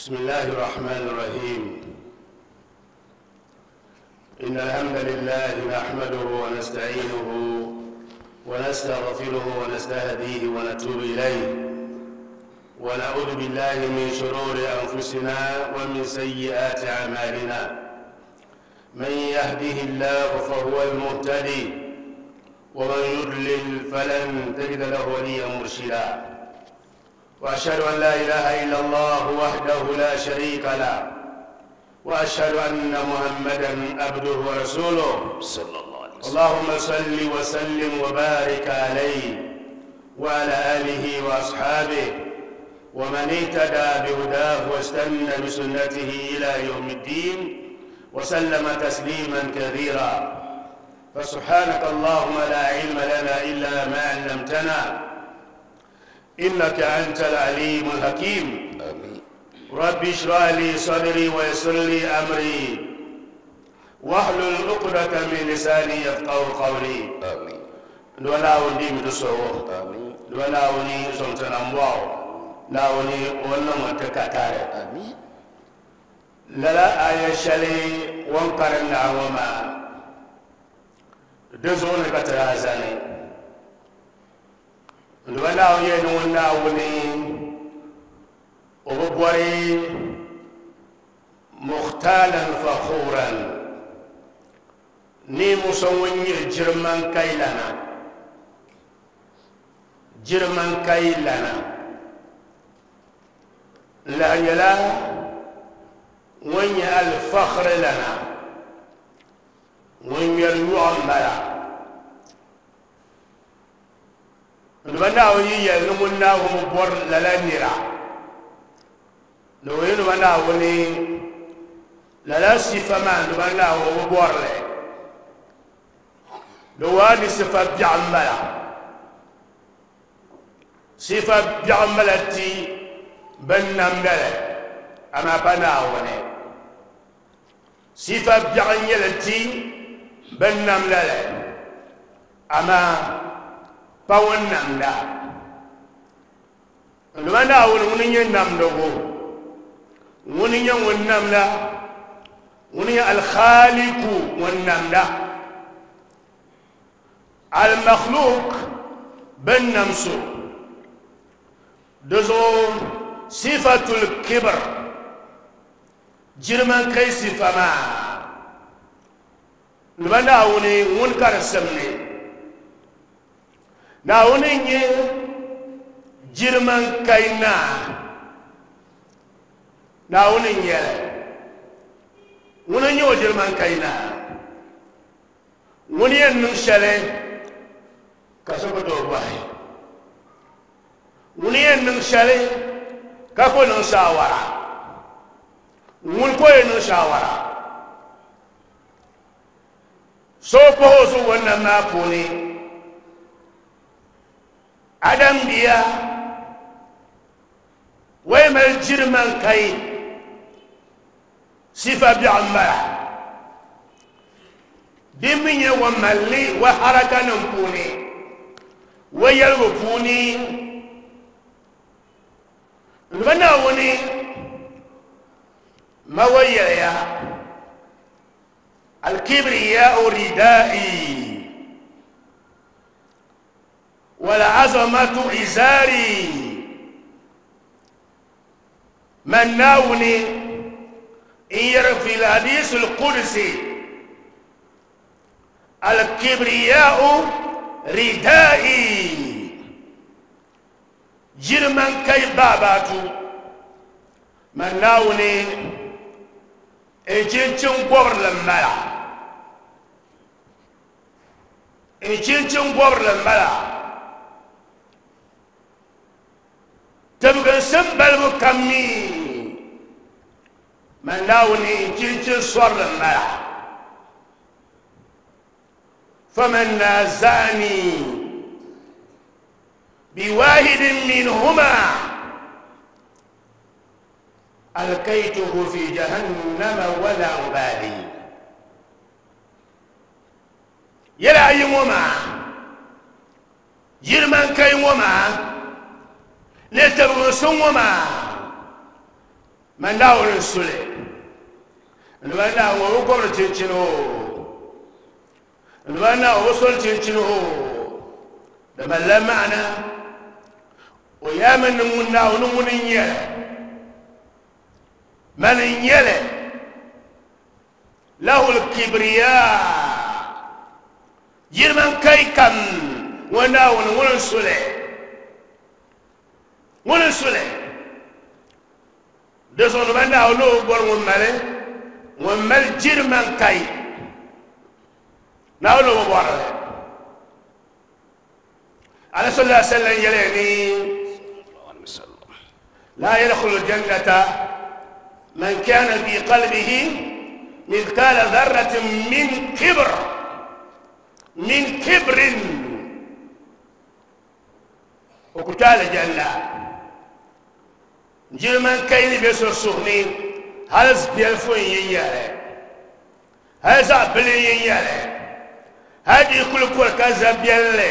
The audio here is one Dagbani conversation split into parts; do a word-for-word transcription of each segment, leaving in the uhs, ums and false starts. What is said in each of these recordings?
بسم الله الرحمن الرحيم. إن الحمد لله نحمده ونستعينه ونستغفره ونستهديه ونتوب إليه، ونعوذ بالله من شرور أنفسنا ومن سيئات أعمالنا. من يهده الله فهو المهتدي، ومن يضلل فلن تجد له وليا مرشدا. وأشهد أن لا إله إلا الله وحده لا شريك له، وأشهد أن محمدا عبده ورسوله صلى الله عليه وسلم. اللهم صل وسلم وبارك عليه وعلى آله وأصحابه ومن اهتدى بهداه واستنى بسنته إلى يوم الدين وسلم تسليما كثيرا. فسبحانك اللهم لا علم لنا إلا ما علمتنا إنك أنت العليم الحكيم. آمين. رب اشرح لي صدري ويسر لي أمري واحلل عقدة من لساني يفقهوا قولي. آمين. دولا ودي مدسو. آمين. دولا وني زمتنا مواو. لا وني ولا متكاتار. آمين. لا آية شلي وانقرنا وما دزون كترازني. دولا وني وني وبوري مختالا فخورا ني مسوين جرمان كايلانا جرمان كايلانا لا يلا وين الفخر لنا وين يلوم بلا نبنا ويا نمنا ومبور للا نوين وانا وني لا صفة ما نبنا ومبور له نواني صفة بعملا صفة بعملتي بنملا أما بنا وني صفة بعملتي بنملا أما باونملا نبنا وني نملو وني والنملة وني الخالق والنملة المخلوق بالنمسو دزو صفة الكبر جرمان كي صفة ما نبنا وني ونكر سمني ناوني جرمان كينا naawuni n-nyɛli ŋuni n-nyɛ o jiriman kaina ŋuni yɛn niŋ shɛli ka so ku tooi bɔhi ŋuni yɛn niŋ shɛli ka ku niŋ shaawara ŋuni ko yɛn niŋ shaawara so pahi o zuɣu nam maa puuni Adam bia wai mali jiriman kai sifa bi'ambara dimminya wa malli wa harakanin puuni wa yɛligu puuni n Naawuni ma wa yɛliya alkibriyau ridai walazamatu izari man Naawuni في الحديث القدسي الكبرياء ردائي جرمان كي باباتو من ناوني إنشنشن قبر لمبلا إنشنشن قبر لمبلا تبقى سنبل مكمي من ناوني جنجن صور الملع فمن نازعني بواحد منهما ألقيته في جهنم ولا أبالي. يلا يوما جرمان كي وما نتبغسون وما Man daawuni n-suli ni ban naawuni o bi gɔbiri chinchini o ni ban naawuni o bi soli chinchini o di malila maana o yaami ni ŋun naawuni ŋuni n-nyɛli mani n-nyɛli lahu l-kibriya girman kai kam ŋun naawuni ŋuni n-suli ŋuni n-suli di zuɣu ni ban naawuni o bɔri ŋun mali ŋun mali girman kai naawuni o bi bɔrili ala sallallahu alaihi wasallam yɛliya ni la yadkhulu jannata man kana fi qalbihi mithqala dharratin min kibr min kibrin o ku tooi aljanna girman kai ni be so suhuni hali biɛlifu n yi nyɛli hali zaɣ bili n yi nyɛli hali di kuli kɔri ka za biɛlli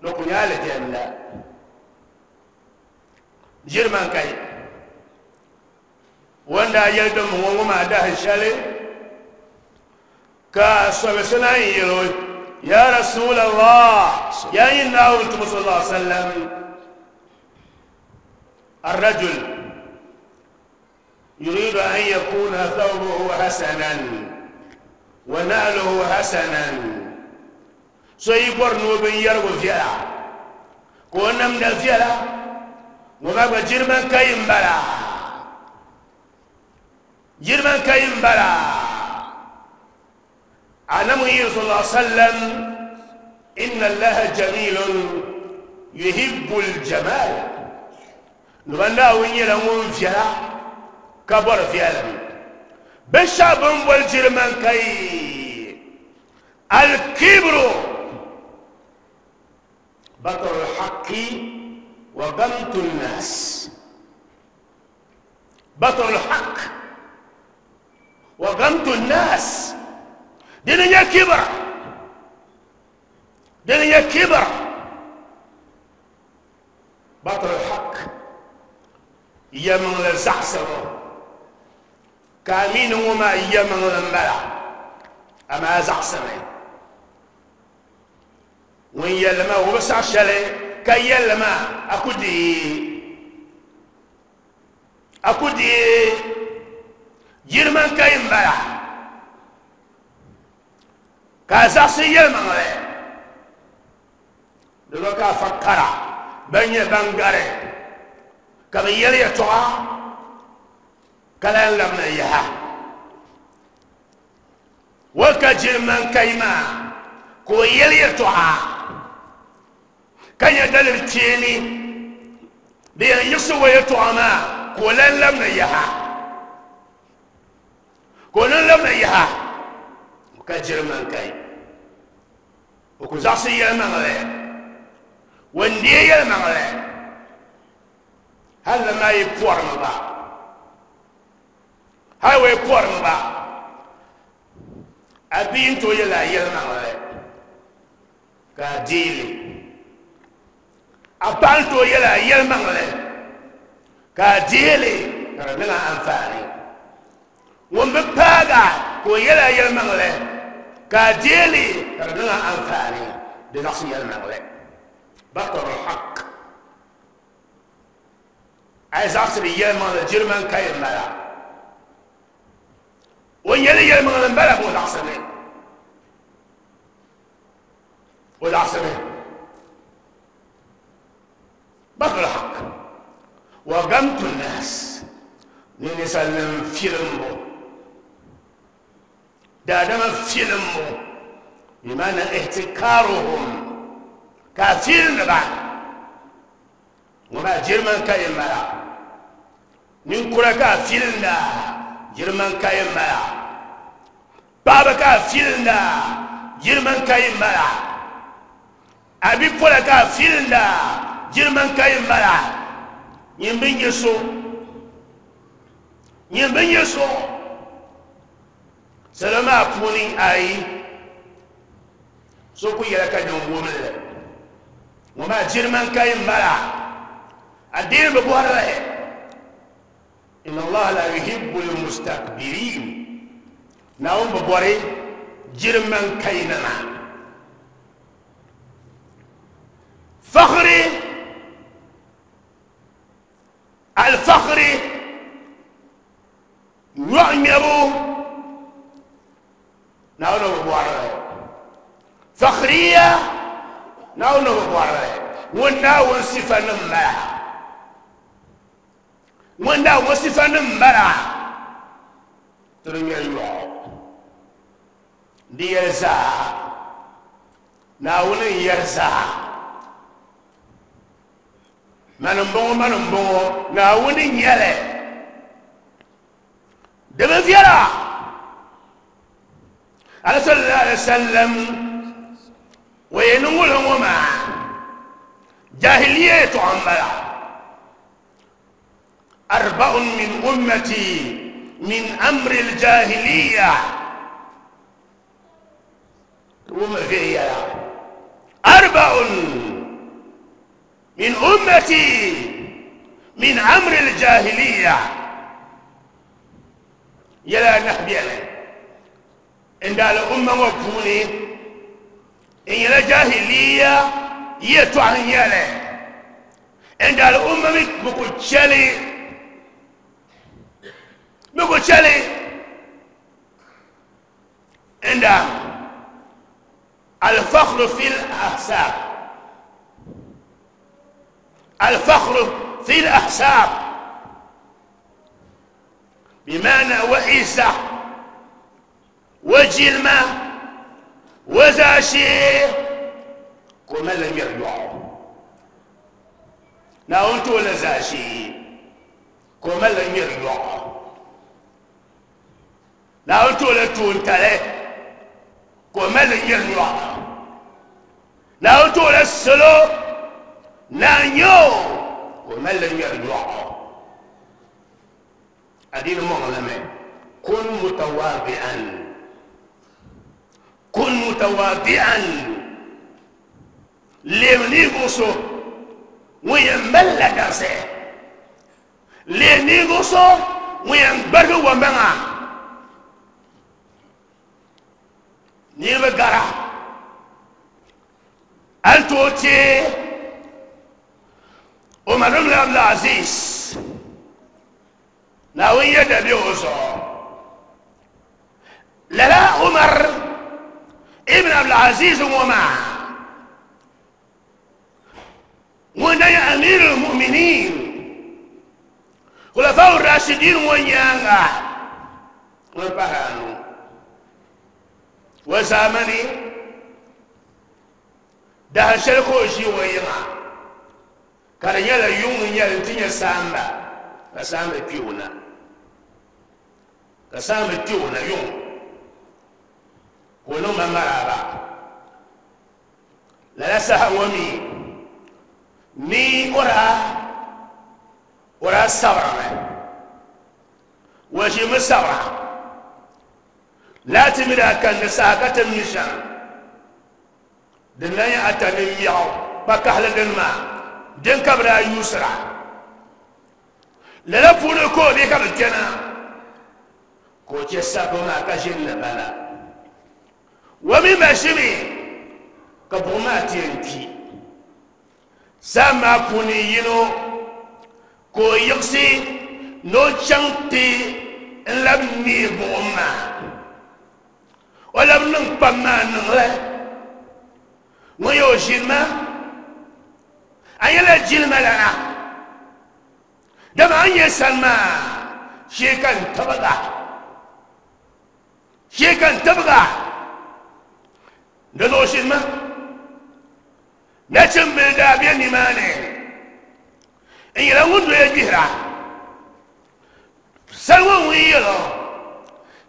ni ku nyɛ aljanna girman kai wanda yɛli din ŋɔ ŋɔ maa dahin shɛli ka sɔbisi naan yɛl o ya rasulallah ya yin naawuni tumo sallallahu alaihi wasallam الرجل يريد أن يكون ثوبه حسنا ونعله حسنا سيبر نوبن يرغو فيلا كونم دا فيلا وما جرمان كاين بلا جرمان كاين بلا أنا مهي صلى الله عليه وسلم إن الله جميل يحب الجمال نبندا وين يلون فيلا كبر فيلا بشاب والجرمان كي الكبر بطر الحق وغمط الناس بطر الحق وغمط الناس دنيا كبر دنيا كبر بطر الحق يمن لزعسر كامين وما يمن لنبلا أما زعسر وين يلما وبس عشالي كي يلما أكودي أكودي جرمان كاين بلا كازاسي يلما دلوكا فكرا بني بنغاري كما يلي يتوعى كلا لمنا إياها وكجرمان كايما كو يلي يتوعى كان يدل التيني بأن يسوى يتوعى ما كو لمنا إياها كو لمنا إياها وكجرمان كاي وكزاسي يلمغلي وندي يلمغلي هل ما يبور مبا هل يبور مبا أبي انتو يلا يلمغلي كديلي أبانتو يلا يلمغلي كديلي كرمنا أنفاني ومباغا كو يلا يلمغلي كديلي كرمنا أنفاني بنفسي يلمغلي بطر الحق عايز أصل يلمغلي جرمان كاين ملا ويلي يلمغلي ملا بو العصمين والعصمين بطر الحق وغمت الناس نسلم فيلمو دادما فيلمو بمعنى احتكارهم كافير بعد وما جرمان كاين ملا نكرا كافير دا جرمان كاين ملا بابا كافير دا جرمان كاين ملا أبي بولا كافير دا جرمان كاين ملا يمبين يسو يمبين يسو سلام أبوني أي سوكو يلقى نوم وما جرمان كاين ملا الدين ببوره إن الله لا يحب المستكبرين نعم ببوري جرمان كينما فخري الفخري نعمرو نعم ببوري فخرية نعم ببوري ونعم صفة نمبرا ونعم صفة نمبرا ترمي الله دي يرزا نعم يرزا من بو من بو نعم يلي دم فيرا على صلى الله عليه وسلم وينقول وما جاهلية عملا أربع من أمتي من أمر الجاهلية وما فيها أربع من أمتي من أمر الجاهلية يلا نحبي إن دال أمة وكوني إن يلا جاهلية يتوان يلا إن دال أمة مكوتشالي مكوتشالي إن دال الفخر في الأحساب الفخر في الأحساب بمعنى وعزة وجلمة وزاشي كما لم يرجع ناونت ولا زاشي كما لم يرجع ناونت ولا تونتالي كما لم يرجع ناونت ولا السلو نانيو كما لم يرجع أدين مغلمة كن متواضعا كن متواضعا لينيغوسو ويمل درسه لينيغوسو وينبرغ ومنا نيبغارا أنتوتي عمر بن عبد العزيز ناوي يدبيوزو لا عمر ابن عبد العزيز وما وانا امير المؤمنين خلفاء الراشدين ونيانا وبهانو وزامني ده شركو شي وينا كان يلا يوم يلا تنيا سامبا كسامبا بيونا كسامبا بيونا يوم ولو ما مرابا لا سهومي ني ورا ورا سورة وشي مسورة لا تمرا كان ساقة مشان دنيا أتني ياو بكحل دنما دن كبرا يسرا لا فونكو بيك بالجنة كوتش سابوما كجنة بلا ومما شمي كبوما تينتي سما كوني ينو كو يقسي نو تشانتي لم نيبوما ولم نقبما نغلا ويو جلما أيلا جلما لنا دم أن يسلما شيكا تبغى شيكا تبغى ندو شلما نشم بالدابين نماني إن يلون يجهرا سلوى ويلو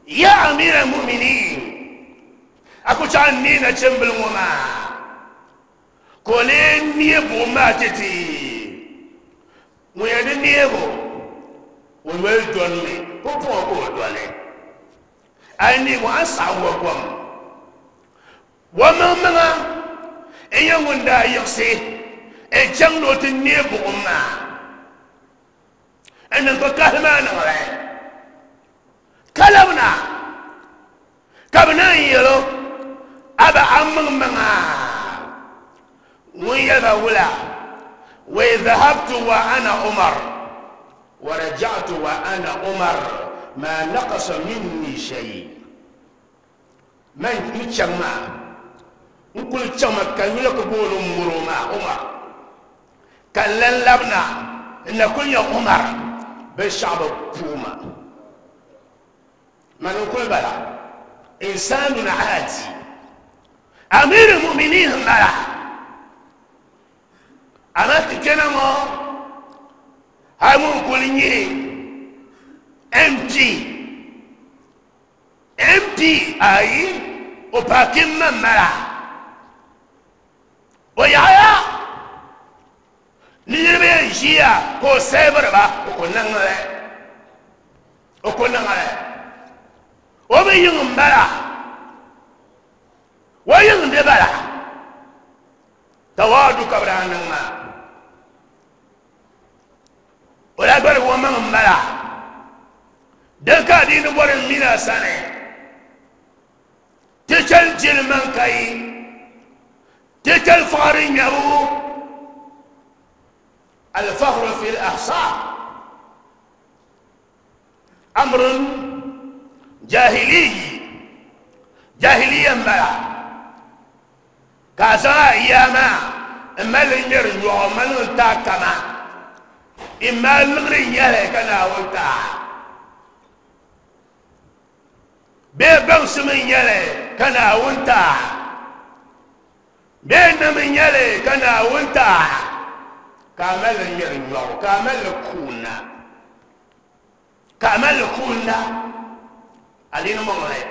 يا أمير المؤمنين أكو شعني نشم بالوما كولين نيبو ما تتي ويدن نيبو ويل دوني كوكو دوني أني وأسعى وقوم وما منا إيه وندا يقصي إيه جنگلو تنيبو ما N niŋ ka kahi maa niŋli ka labina ka bi naan yɛlo a ba a maŋmaŋa ŋun yɛli ba wula wa dhahabtu wa ana Umar wa raja'tu wa ana Umar ma naqasa minni shay man n chaŋ maa n kuli chaŋ ma ka yuli ka booni n muro maa Umar ka n lan labina n na kuli nyɛ Umar binshɛɣu bi puuma man n kuli bala insanun aadi amir muminin n bala ama ti kpɛna ŋɔ hali ŋun kuli nyɛ M P M P ayi o paakin man mala o yaɣaya ni niriba yɛn ʒiya ka o sɛbiri ba o ku niŋli o ku niŋli o mi yiŋ n bala o yiŋ di bala tawaadu ka bi daa niŋ maa o daa gbarigi o maŋ n bala din ka adiini bɔri n mina sani ti chɛli jili maŋ ka yi ti chɛli faɣari nyabu الفخر في الأحصاء أمر جاهلي جاهليا بلا كازا أياما إما لنجر يوم تاكما إما لغري يلي كنا ولتا بيبنس من يلي كنا ولتا بين من يلي كنا ولتا كامل يرنيو كامل كونا كامل كونا أدين مغلي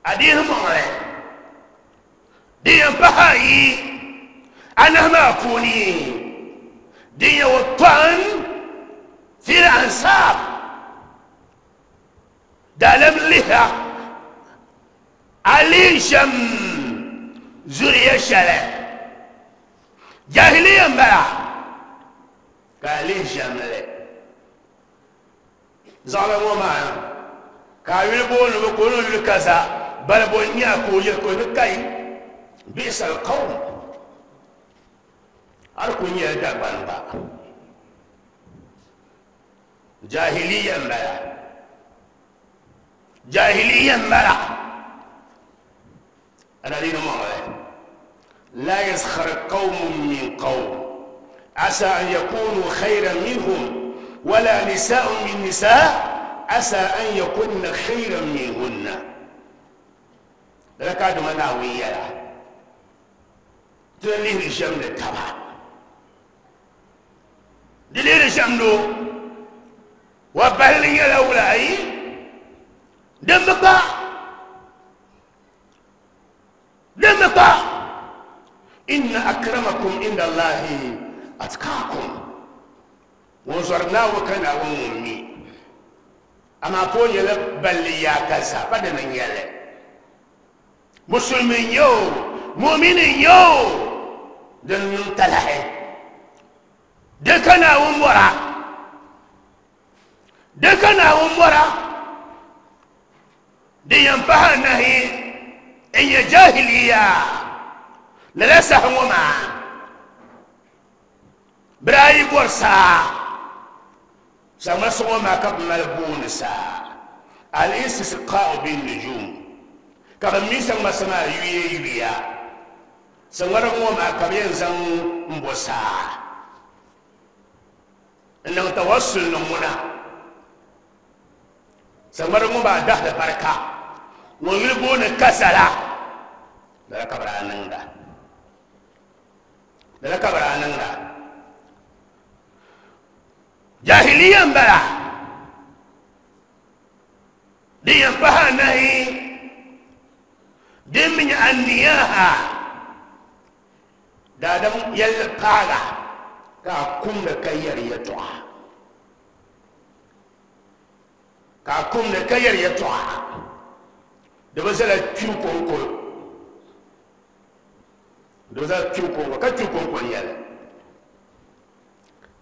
أدين مغلي دين بهاي أنا ما كوني دين وطن في الأنصاب دالم لها علي شم زوري شلة جاهليا بلا قالين شاملة ظلموا معنا كايل بون بكونوا لكذا بل بنيا كوجل كل كاي بئس القوم أركون يدا بانبا جاهليا بلا جاهليا بلا أنا دين مغلق لا يسخر قوم من قوم عسى أن يكونوا خيرا منهم ولا نساء من نساء عسى أن يكون خيرا منهن لك هذا مناوية تليه الشمل تبع دليل الشمل وبهلي الأولى دمك دمك إن أكرمكم عند الله أتقاكم وزرنا وكنا ومي أما كون يلب بل يا كذا بدنا يلا مسلمين يو مؤمنين يو دن تلحي دكنا ومورا دكنا ومورا دي ينبه نهي إن جاهلية لا سهوما براي بورسا سما سوما كب ملبونسا الاستسقاء بالنجوم كب ميسا ما سما يوي يويا سما ما كب ينزن مبوسا إنه توصل نمونا سما ما دخل بركة ويلبون كسلا لا كبر أنندا لا كبر أنندا جاهليا بلا دي ينبها نهي دي من النياها دادم يلقاها كاكم لكير يتوع كاكم لكير يتوع دبزلا تشوكو دبزلا تشوكو كتشوكو يلا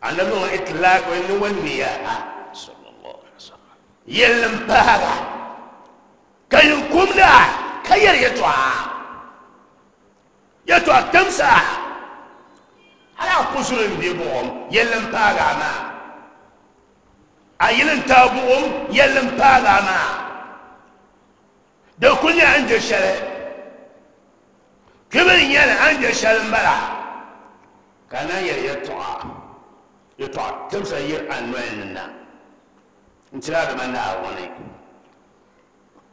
Annabi itlaq wa niyaha sallallahu alaihi wasallam yelin paga kayin kumda kayar yatwa yatwa tamsa ala kusurin bi bu'um yelin paga ma ayilin tabu'um yelin paga ma da kunya an je shale kibin yana an je shalen bala kana yar yatwa yatwa tamsa yir anwanna intira da manna wani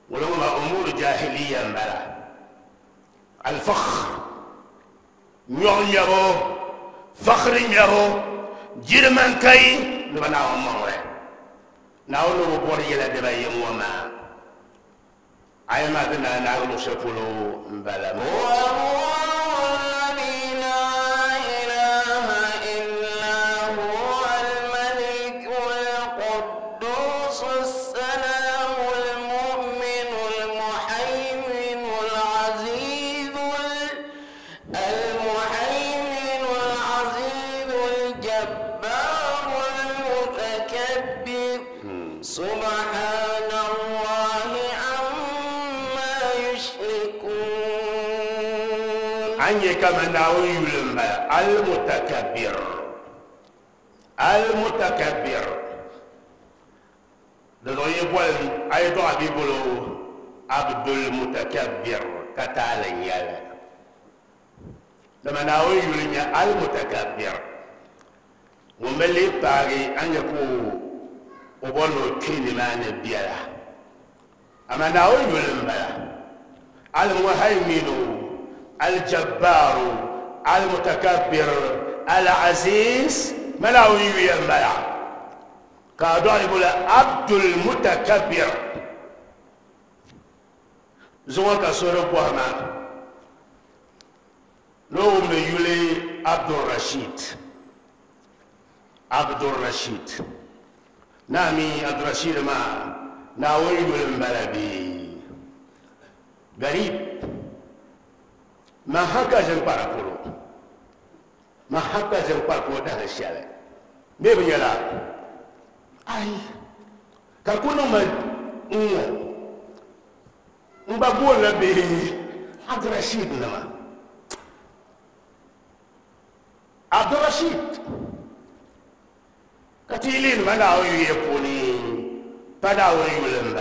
ولما أمور جاهلية بلا الفخر نيو فخر نيو جرمان كاي لبنا أمور ناولو بوري يلا دبي وما أي ما دنا ناولو شفلو بلا كما ناوي المتكبر المتكبر لو يقول ايضا بيقولوا عبد المتكبر كتالن يالا لما ناوي المتكبر وملي باغي ان يكون وبولو كلمه نبيلا اما ناوي المهيمن الجبار المتكبر العزيز ملاوي ينبلع قادوا يقول عبد المتكبر زوانك سورة بوهما لو من يولي عبد الرشيد عبد الرشيد نامي عبد الرشيد ما ناوي يقول غريب ما هكا جنبارا كولو ما هكا جنبارا كولو ده الشارع بيبي يلا أي كاكونو ما مبابول لبي عبد الرشيد نما عبد الرشيد كتيلين ما ناوي يكوني فداوي يلم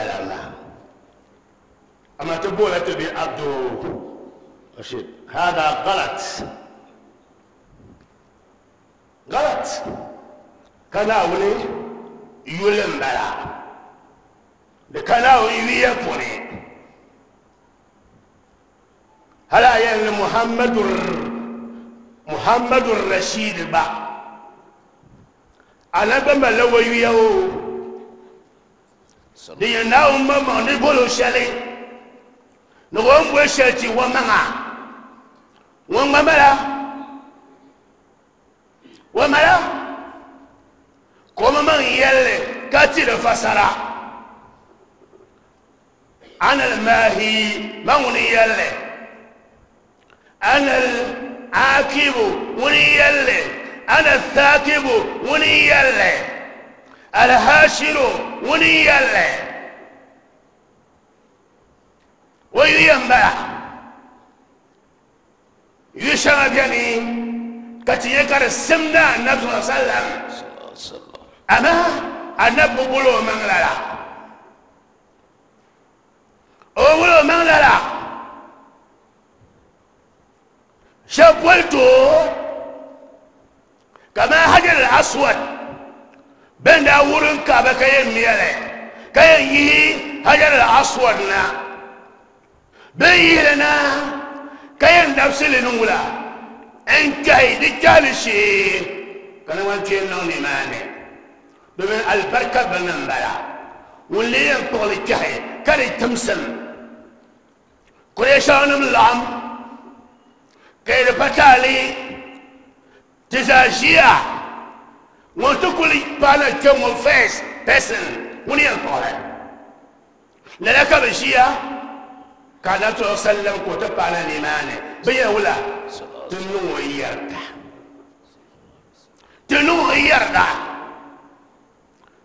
أما تقول تبي عبد رشيد هذا غلط غلط كناولي يلم بلا كناولي يكوني هلا يعني محمد محمد الرشيد با أنا بما لو يو دي ناوم ما نقولوا شالي نقوم بشتي ومعه وملا وملا كما من يلي كثير فسرا أنا الماهي من يلي أنا العاكب وني يلي أنا الثاكب وني يلي الهاشر وني يلي وينبع يشرب يعني كتيكر السمنة النبي صلى الله عليه وسلم أما النبي بقوله من لا أقوله من لا شبولته كما حجر الأسود بين أورن كعبة كي ميله كي يهي حجر الأسود نا بين لنا كي نفس لنولا إن كي دجال شيء كان وانتين نوني ماني بمن البركة بنبلا واللي ينطق الكحي كان تمسم قريشان من العم كي بتالي تزاجيا وتقول بانا كم فيس بسن وني ينطق لذلك بشيا كان تسلم كتب على الإيمان بيا ولا تنو يرتا Tinu yarda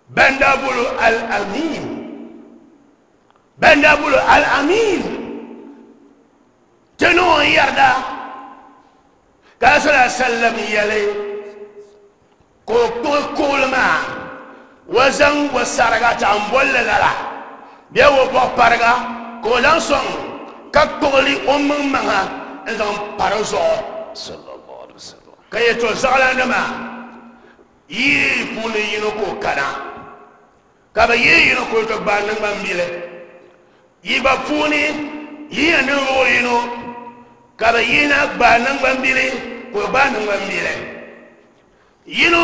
banda bulu al-amin banda bulu al-amin tinu yarda ka sallallahu sallam yale ko ko kulma wazan wasarga tambolle la biya wo bo parga ko lan son ka kogli o manga nzan parazo sallallahu alaihi wasallam kayeto zalana yi puni yino ko kana kaba yi yino ko to ba nan bambile yi ba puni yi nan wo yino kaba yi na ba nan bambile ko ba nan bambile yino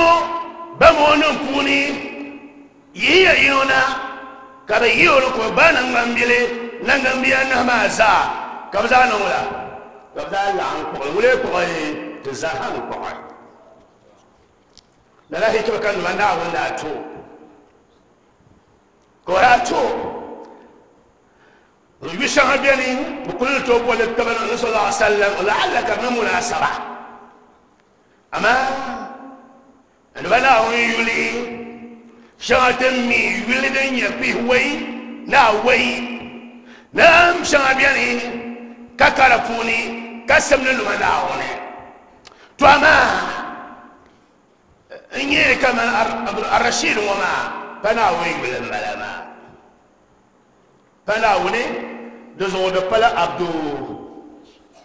ba mo nan puni yi yino na kaba yi yo ko ba nan bambile nan gambiya na ma za kaba za nan wala kaba za la an ko wule ko te za han ko la hikima kan wanda wanda to korato yusha bani qultu wa taban sallallahu alaihi wasallam la'allaka min munasaba ama an bala yuli shatan mi yulidin ya fi wai na wai nam shabani kakarafuni kasamnu lumana wone to ama إني كما الرشيد وما فناوي بالملما فناوني دزو دبلا عبد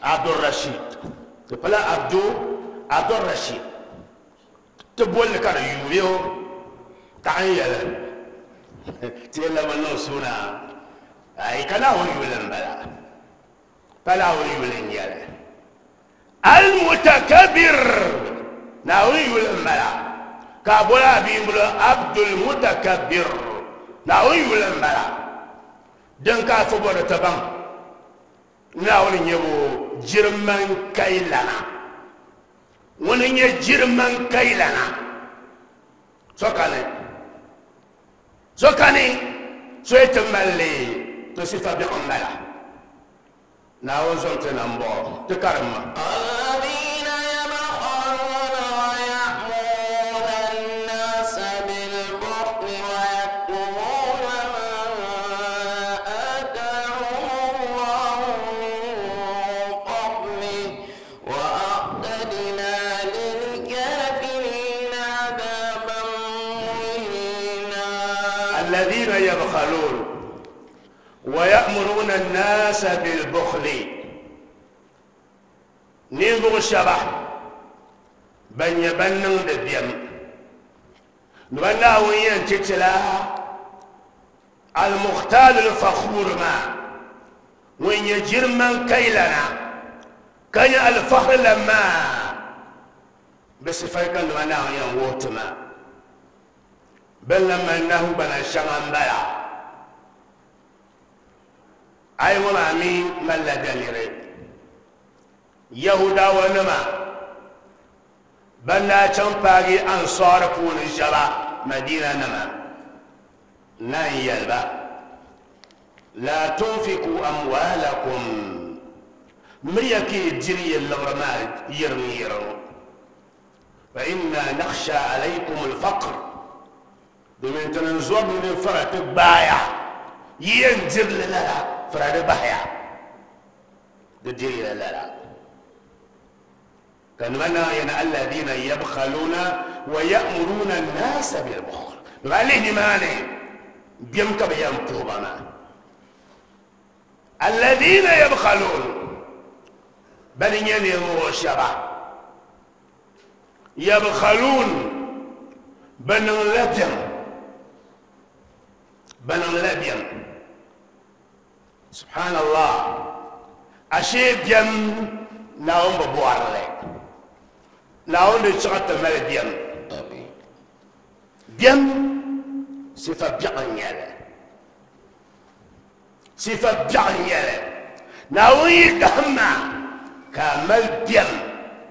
عبد الرشيد دبلا عبد عبد الرشيد تبول كان يويو تعيل تيلا من سونا أي كناوي بالملا فناوي بالنيال المتكبر ناوي بالملا كابولا بيمبل عبد المتكبر ناوي ولمبلا دنكا فبور تبان ناوي نيبو جيرمان كايلانا وني جيرمان كايلانا سوكاني سوكاني سويت مالي تصفا بأمبلا ناوي زونت نمبو تكرم الذين يبخلون ويأمرون الناس بالبخل نينبغ الشبح بن يبنن دبيم نبناه ينتتلا المختال الفخور ما وين يجر من كيلنا كان الفخر لما بس فايكن نبناه ينوتما بل لما انه بنا شغان بلا اي وما مين من لا دليل يهودا ونما بل لا تنبغي انصار كون الجبا مدينه نما نان يلبا لا تنفقوا اموالكم مريكي جري اللغرما يرمير فإنا نخشى عليكم الفقر domin tunan zuwa mun fara ta baya yin jirlala fara da baya da jirlala kan mana yana alladina yabkhaluna wa ya'muruna an-nasa bil bukhl walihi mane biyam ka bayan tubana alladina yabkhalun bal yani shaba yabkhalun ban labyan بن لبيم سبحان الله أشيب يم ناوم ببوارلي ناوم بشغط مال بيم بيم صفة بيعنيالة صفة بيعنيالة ناوم يدهما كامل بيم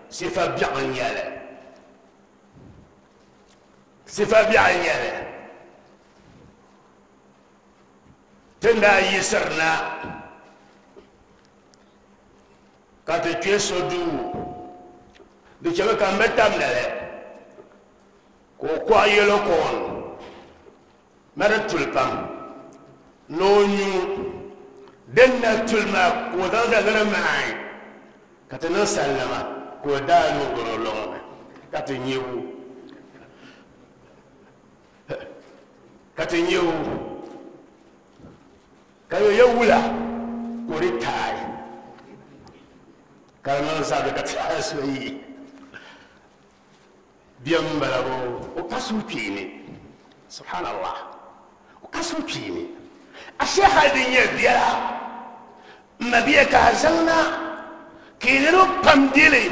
صفة بيعنيالة صفة بيعنيالة تنا يسرنا كاتي كيسو دو دي شبه كان بتام نالي Ka o kɔɣi yɛlo koon ma di tuli pam ni o nyu din na tuli maa ka o zaŋ zali ni di maai ka ti niŋ sallama ka o daa ni o gɔrɔ lɔŋ ni ka ti nyɛ o ka ti nyɛ o ka yo yɛ wula ka o di taai ka di niŋ zabiri ka ti so yi biɛm bala bo o ka suhukpeeni subhanallah o ka suhukpeeni ashe hali din nyɛ biɛla n ma bia ka a zaŋna ka i niriba pam dili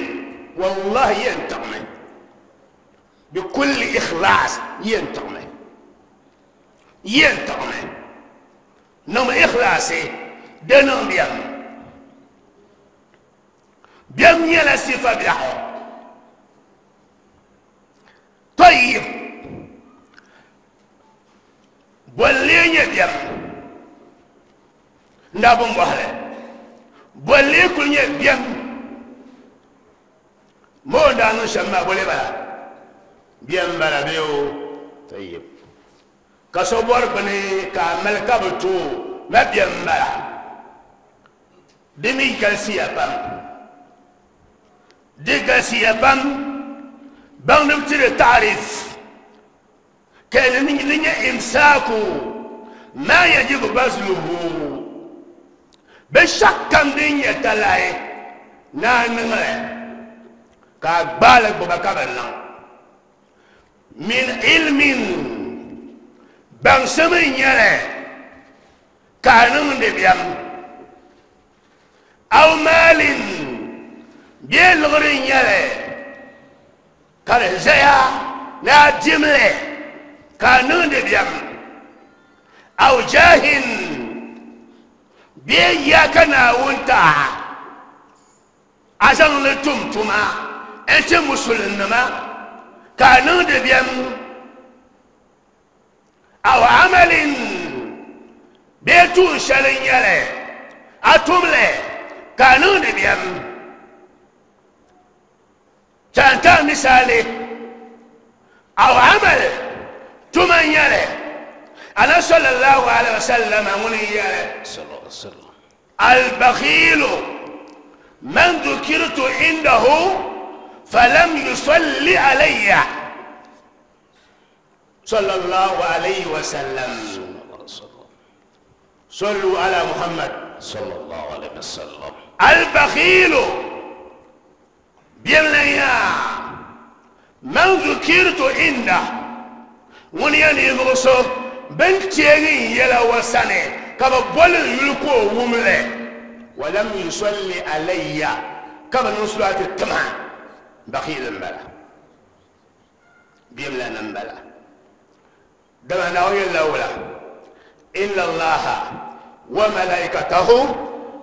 wallahi yɛn tiɣimi bikulli ikhlaas yɛn tiɣimi yɛn tiɣimi niŋmi ikhlaasi di niŋ biɛm biɛm nyɛla sifa biɛɣu طيب bolli nyɛ biɛm n daa bin bɔhili bolli kuli nyɛ biɛm moo n daa niŋ shɛm maa boli bala biɛm bala bee o tayib ka so bɔri bini ka a mali ka bi tooi ma biɛm bala di mi galisiya pam di galisiya pam baŋdim tiri taarif ka li nyɛ imsaaku ma yajibu bazluhu binshɛɣu kam din nyɛ talahi ni a niŋli ka a gbaali gbuba ka bi niŋ min ilmin baŋsim n nyɛli ka a niŋdi biɛm aw maalin bee liɣiri n nyɛli ka di zaya ni a dimli ka a niŋdi biɛm aw jahin bee ya ka Naawuni taɣa a zaŋ li tum tuma n ti musulinnima ka a niŋdi biɛm aw amalin bee tuun shɛli n nyɛli a tumli ka a niŋdi biɛm tanta misali aw amal tuma n nyɛli ana sallallahu alaihi wasallam ŋuni n yɛli albakhilu man dhukirtu indahu falam yusalli alayya sallallahu alaihi wasallam sallu ala muhammad sallallahu alaihi wasallam albakhilu biɛmlanya man dhukirtu inda ŋuni yɛn ninvuɣu so bin teegi n yɛla o sani ka bi boli n yuli ka o wumli walam yusalli alayya ka bi niŋ sulaati tima bakhil n bala biɛmlana n bala dama Naawuni yɛlila wula inna allaha wa malaikatahu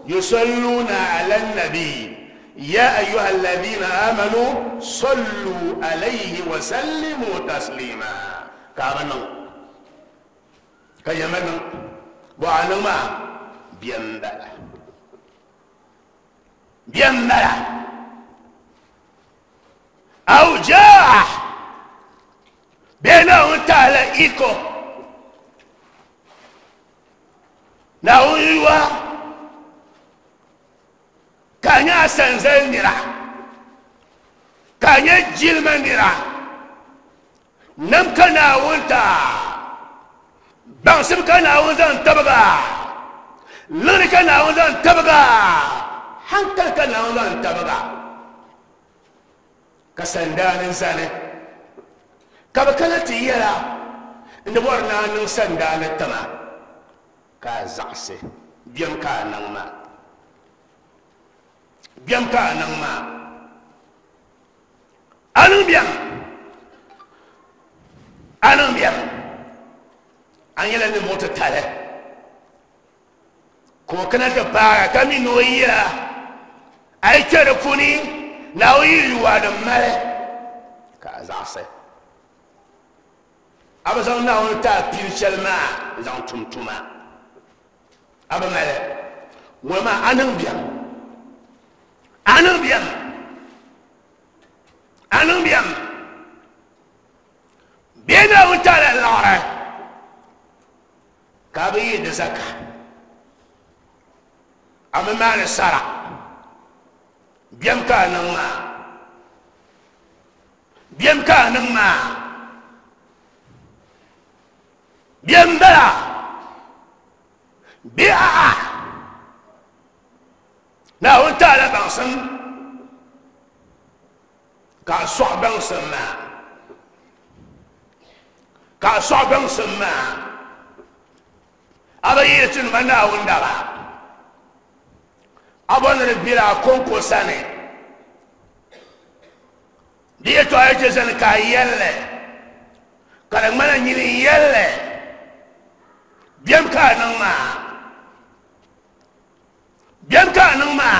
yusalluna ala nabi يا أيها الذين آمنوا صلوا عليه وسلموا تسليما كابنا كيمنا وعنما بيمبلا بيمبلا أو جاء بينه تعالى إيكو ناويوا ka nyɛ asanzali nira ka nyɛ jilima nira nam ka Naawuni taa baŋsim ka Naawuni zaŋ tabiga liɣiri ka Naawuni zaŋ tabiga hankali ka Naawuni zaŋ tabiga ka sandaani zani ka bi kana ti yɛla n di bɔri ni a niŋ sandaani tima ka a zaɣisi biɛm ka a niŋ maa biɛm ka a niŋ maa a niŋ biɛm a niŋ biɛm a nyɛla ninvuɣu titali ka o kana ti paagi ka mi ni o yira a yi kpɛ di puuni Naawuni yi yuwa din mali ka a zaɣisi a bi zaŋ Naawuni ti a pili shɛli maa n zaŋ tum tuma a bi mali ŋɔ maa a niŋ biɛm a niŋ biɛm a niŋ biɛm Bena utala lora kabi de zaka amma ma sara biyam ka nan ma biyam ka nan ma biyam bala bi'a na utala bangsan ka so bangsan ma ka so bangsan ma abayetin mana wundara abon rebira konko sane diye to aje zan ka yelle kala mana nyini yelle biyam ka nan ma biyam ka nan ma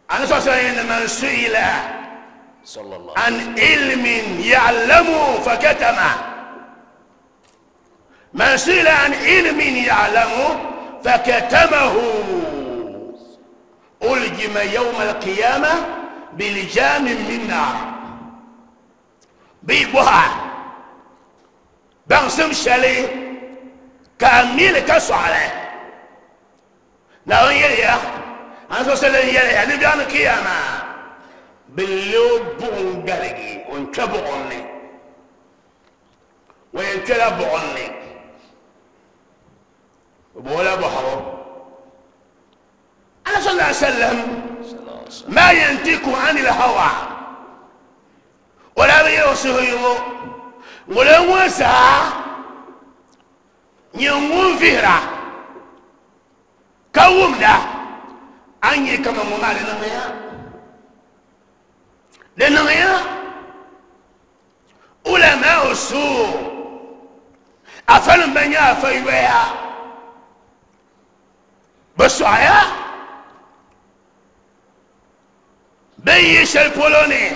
ana so sai man su'ila sallallahu an ilmin ya'lamu fakatama من سئل عن علم يعلمه فكتمه ألجم يوم القيامة بلجام من نار بيبوها بانسم شالي كامل كسعلة نعم يليا أنا سأل يليا نبي عن القيامة باللوب قلقي وانكبعني وينكلبعني ولا بحر أنا صلى الله عليه وسلم ما ينطق عن الهوى ولا يوصيه ولا وسع يوم فيرا كوم ده أني كما مال لنغيا لنغيا علماء السوء أفلم بنيا فيويا بسعيا بيش البولوني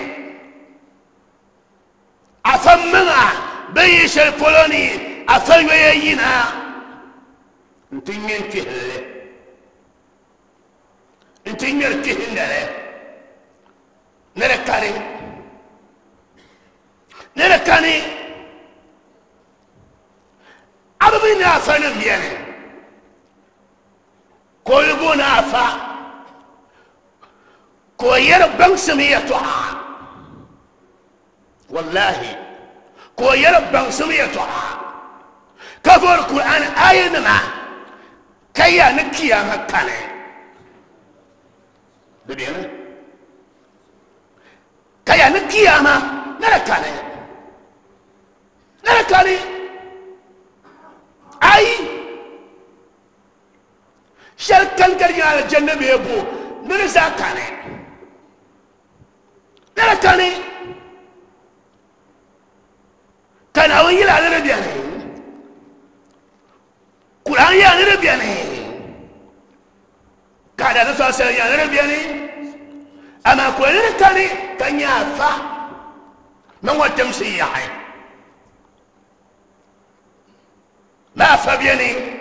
أفهمنا بيش البولوني أفهم ويينا انتين كهله انتين كهله نركاني نركاني أبينا أفهم يعني كلبنا فا كوير بنسمية والله كوير بنسمية كفر القرآن آية ما كيا نكيا مكانه دبينا كيا نكيا ما نركانه نركانه أي شركان كريا على الجنة بيبو نرزا كانه نركانه كان أويل على ربيانه قرآن يا ربيانه كان هذا سؤال يا ربيانه أما قرآن كانه كان يافا ما هو تمشي يعني ما فبيانه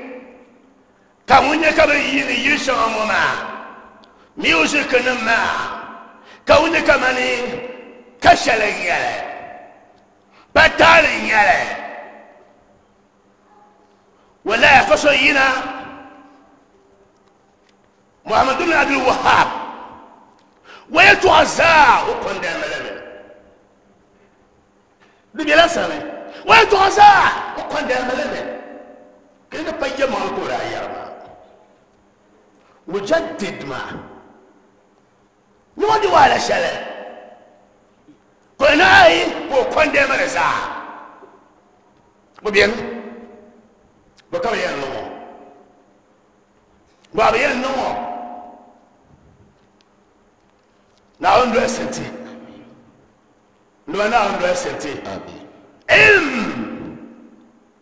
كوني كبيني يشام ما ميوزك نما كوني كماني كشلين بتالين ولا فصينا محمد بن عبد الوهاب ويتوزع وكن دائما بلا سنة ويتوزع وكن دائما كنا بيجي ما القرآن مجدد ما نودي ولا شلة كنا أي وكن دائما رزع وبين بكم ينمو بابي ينمو نعم دوسنتي نعم دوسنتي علم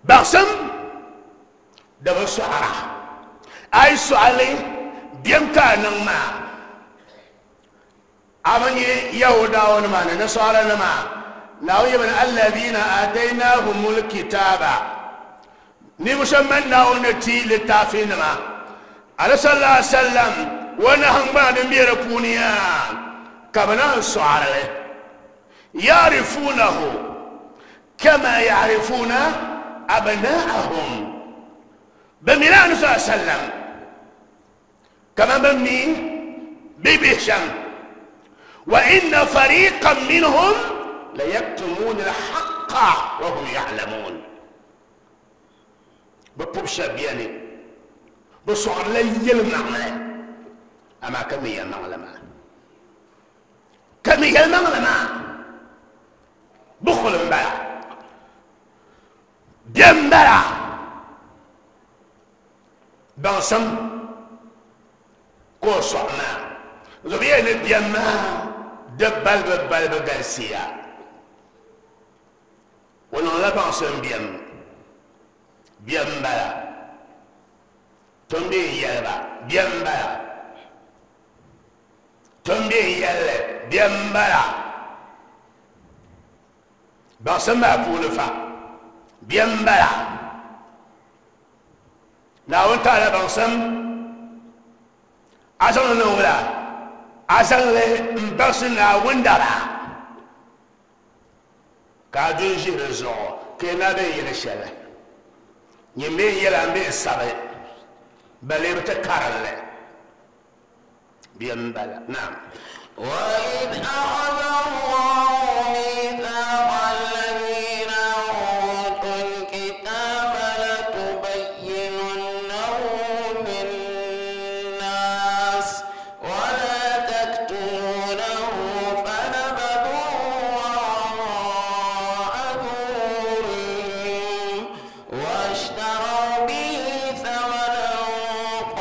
بقسم دبر سعرة أي سؤالي بيمكا نما أمني يهودا ونما نصارى نما ناوي من الذين آتيناهم الكتاب نمشمن ناونتي للتافين ما على صلى الله عليه وسلم ونهم بعد ميركونيا كمنا سعرة يعرفونه كما يعرفون أبناءهم بميلان صلى الله عليه وسلم كما بمي ببهشم وإن فريقا منهم ليكتمون الحق وهم يعلمون ببوشا بياني بصعر لي المعملة أما كم هي المعلمة كم هي المعلمة بخل مبالا بيمبالا بانسم كو صعنا زبيان بيما دبل ببل بغالسيا ونلا بانسم بيم بيمبالا تنبي يلبا بيمبالا تنبي يلبا بيمبالا بانسم ما بولفا بيمبالا ناون تعالى بانسم عشان نولا عشان بس ناون دارا كادون جيرزو كنا بين الشلة يمين يلعب السبع بل يبتكرر بيمبالا. نعم. وإذ أخذ الله ميثاق الذين أوتوا الكتاب لتبيننه للناس ولا تكتمونه فنبذوه وراء ظهورهم واشتروا به ثمنا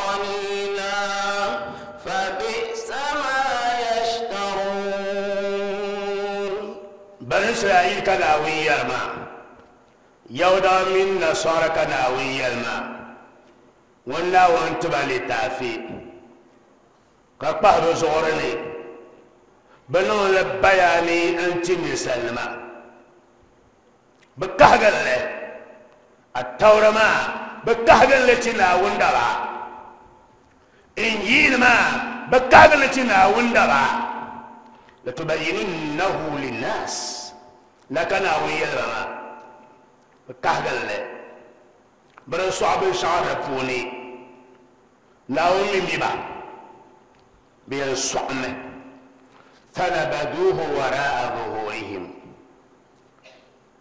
قليلا فبئس ما يشترون. بني إسرائيل كناوي ما يودا من نصارى كناوي ما ولا وانت بالي تافي كبهر زورني بنو لبياني انت مسلمة بكهجل له التوراة ما بكهجل لتنا وندرا إنجيل ما بكهجل لتنا وندرا لتبيننه للناس لكن أويل ما بكهجل له برسو عبد شعر بوني ناومي بيبا بيرسوعمه فنبذوه وراء ظهورهم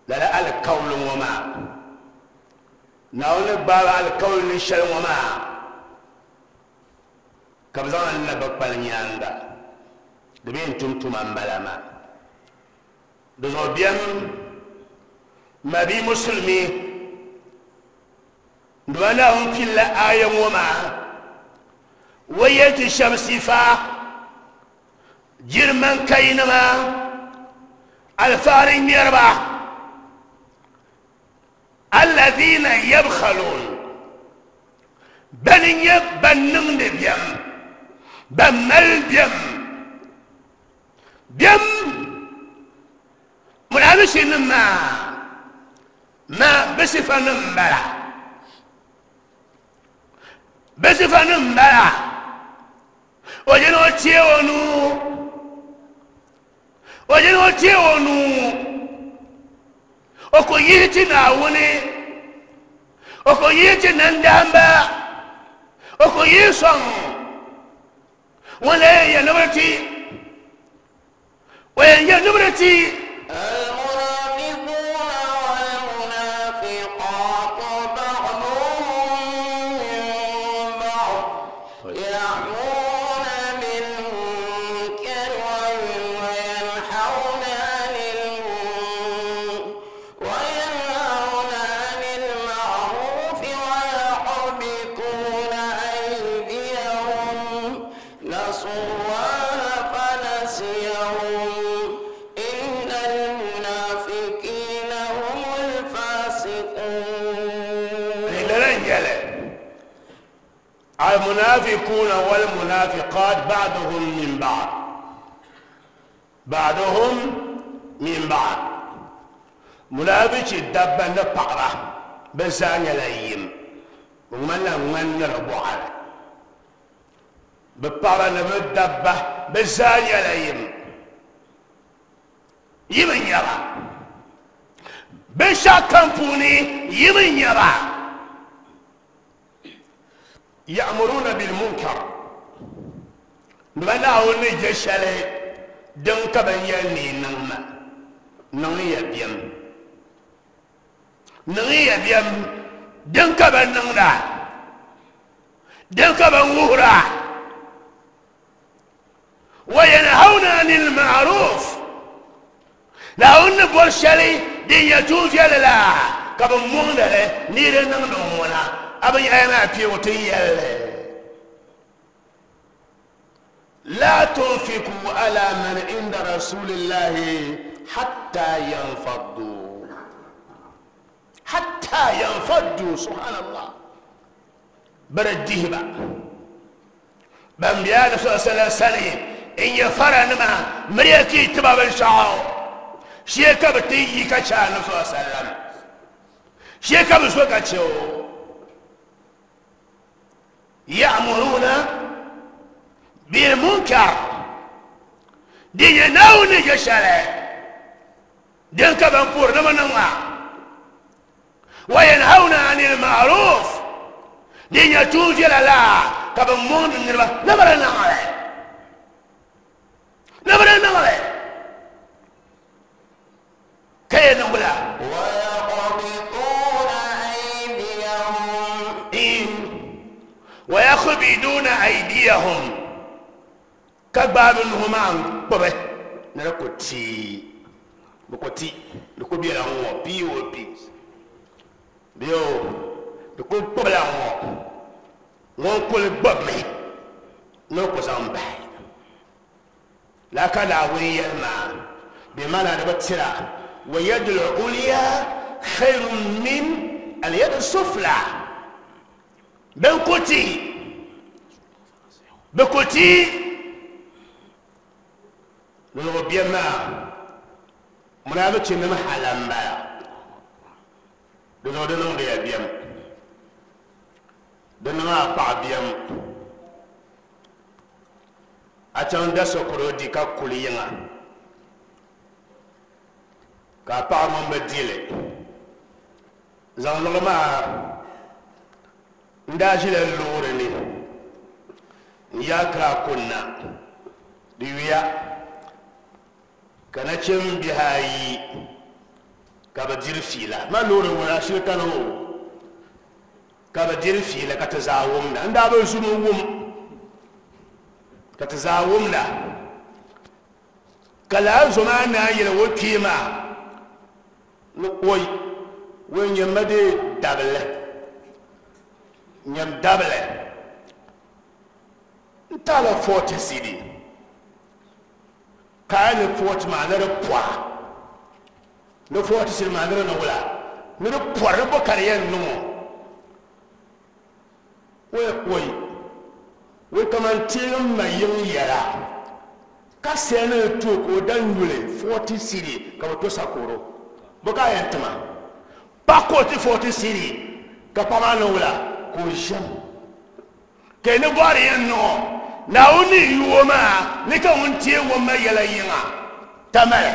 لا لا القول وما ناون بابا القول نشل وما كبزان النبق بالنياندا دبين تمتم أمبلاما دزو بيان ما بي مسلمي دوانا في الآية وما ويت الشمس فا جرمان كينما الفارين يربع الذين يبخلون بل يبنن بيم بمل بيم بيم منابشين ما ما بصفة نمبرة بصفة نمبرة وجنو تيونو وجنو تيونو oko yiti na wuni oko yiti na ndamba oko yisong wala ya nubrati wala ya nubrati. المنافقون والمنافقات بعضهم من بعض يأمرون بالمنكر وينهون عن وينهون عن المعروف ويقبضون أيديهم نسوا الله فنسيهم إن المنافقين هم الفاسقون. المنافقون والمنافقات بعضهم من بعض بعضهم من بعض منافق دبا نبقرة بسانيا لايم ومن من ربوعة ببقرة نبدبة بسانيا لايم Yi nyaba binshɛɣu kam puuni yi nyaba ya'muruna bil munkar bɛ Naawuni ni je shɛli din ka bɛ yɛli ni niŋ ma niŋ ya biɛm niŋ ya biɛm din ka bɛ niŋda din ka bɛ wuhira wa yanhauna anil ma'ruf Naawuni ni bɔri shɛli din nyɛ tuun viɛlli la ka bɛ mɔŋdi li ni di niŋdi ŋuna a bi nyɛla maa kpeebu ti yɛlli la tunfiku ala man inda rasulillahi hatta yanfaddu hatta yanfaddu subhanallah bari dihiba ban biya na sallallahu sani in ya fara nima miriya ki tiba binshɛɣu shee ka bi ti yi ka chɛ anabi sallallahu alaihi wasallam shee ka bi so ka chɛ o ya'muruna bil munkar din nyɛ Naawuni ni je shɛli din ka ban puhiri ni bi niŋ maa wa yanhauna anil ma'ruf din nyɛ tuun viɛla la ka bi mɔŋdi niriba ni bi di niŋ li ni bi di niŋ li ka yɛ niŋ la ويقبضون أيديهم ويقبضون أيديهم ka gbaai nuhi maa n-kpubi ni di ku tii di ku ti di ku bela ŋ-ŋɔ P O P bee o di ku kpubila ŋ-ŋɔ ŋun kuli gbubimi ni o ku zaŋ bahi lala ka Naawuni yɛli maa bɛ maana di bi tira wa yadul ulya khayrun min al-yadi sufla bɛn ku ti bɛ ku ti lɔlɔgɔ biɛm maa munaafichi nim hala m-bala di zuɣu di niŋdi ya biɛm di niŋ a paɣa biɛm a chaŋ da sokoro di ka kuli yiŋa ka a paɣa ŋun bi dili zaŋ liɣi maa n daa ʒila loori ni n yaa kira kunna di yuya ka nachimbihi ayi ka bi diri fiila ma loori ŋuna ashili kani o ka bi diri fiila ka ti zaa wumda n daa bi zumi wum ka ti zaa wumda ka laa zo maa naan yɛli o kpee maa ni oi ŋun nyɛmma dee dabili nyɛm dabili n taala forty cedi ka a ni forty maa ni di pɔra ni forty cedi maa ni di niŋ wula ni di pɔra ni bo ka di yɛn niŋ o oi oi oi kaman teegi ma yiŋ yɛla ka sɛli ni to ka o da nyuli forty cedi ka bi to sakoro bo ka a yɛn tima pa ka o ti forty cedi ka paɣa maa niŋ wula ka o ʒɛm ka ni bɔri yɛn niŋ o Naawuni ni yuo maa ni ka ŋun teegi o ma yɛla yiŋa tamali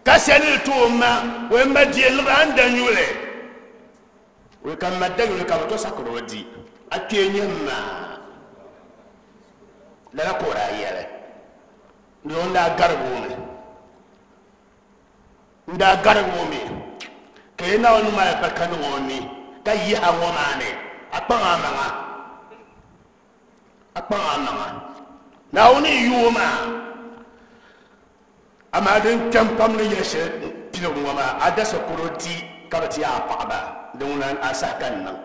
ka sɛli ni to o ma o yɛn ma die liɣiri a ni da nyuli o ka ma da nyuli ka bi to sakiri o di a kpee nyɛ maa lala ka o daa yɛli ni o daa garigi o mi n daa garigi o mi ka yi Naawuni mali barika niŋ o ni ka yiha ŋɔ maa ni a kpaŋ a maŋa a kpaŋ a maŋa Naawuni yuo maa amaa din kpɛm pam ni yɛli shɛli piligu ŋɔ maa a da sakoro di ka bi ti a paɣaba din ŋuna a saha ka n niŋ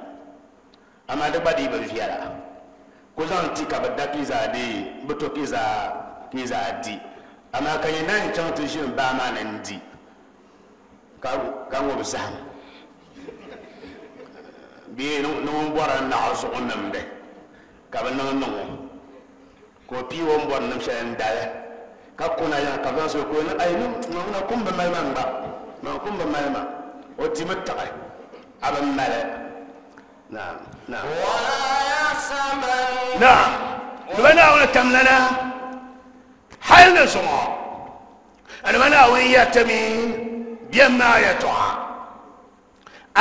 amaa di gba dii bi viɛla ko zaŋ ti ka bi da ki zaa dee bi to ki zaa ki zaa di amaa ka nyɛ naan chaŋ ti ʒini baa maa ni n di ka ka ŋubi zaham bee ni ŋun bɔra naɣ zuɣu nimdi ka bi niŋ niŋ o ka o pii o ni bɔri nim shɛli n dali ka kuna yaha ka zaŋ so ka o ni ai ŋuna kum bi mali ma gba maa kum bi mali ma o dimi taɣi a bi mali naam naam ولا يحسبن naam di ba Naawuni tamlana hali ni zuŋɔ أنا ما ويتمي بما يتوعى